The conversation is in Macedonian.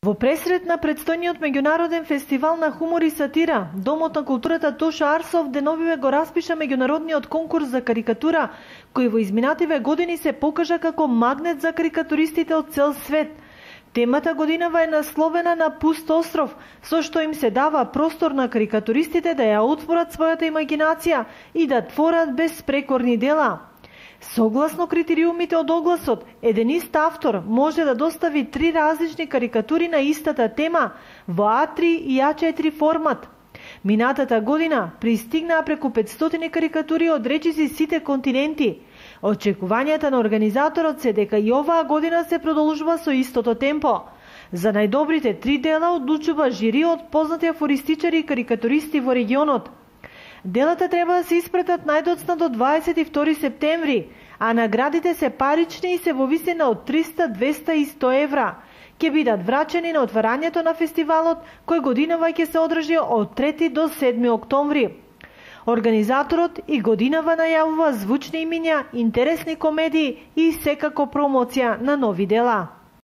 Во пресрет на предстојниот меѓународен фестивал на хумор и сатира, Домот на културата Тоша Арсов деновиве го распиша меѓународниот конкурс за карикатура, кој во изминативе години се покажа како магнет за карикатуристите од цел свет. Темата годинава е насловена на Пуст остров, со што им се дава простор на карикатуристите да ја отворат својата имагинација и да творат безпрекорни дела. Согласно критериумите од огласот, еден ист автор може да достави 3 различни карикатури на истата тема во А3 и А4 формат. Минатата година пристигнаа преку 500 карикатури од речиси сите континенти. Очекувањата на организаторот се дека и оваа година се продолжува со истото темпо. За најдобрите 3 дела одлучува жири од познати афористичари и карикатуристи во регионот. Делата треба да се испратат најдоцна до 22 септември, а наградите се парични и се во висина од 300, 200 и 100 евра. Ќе бидат врачени на отварањето на фестивалот, кој годинава ќе се одржи од 3 до 7 октомври. Организаторот и годинава најавува звучни имиња, интересни комедии и секако промоција на нови дела.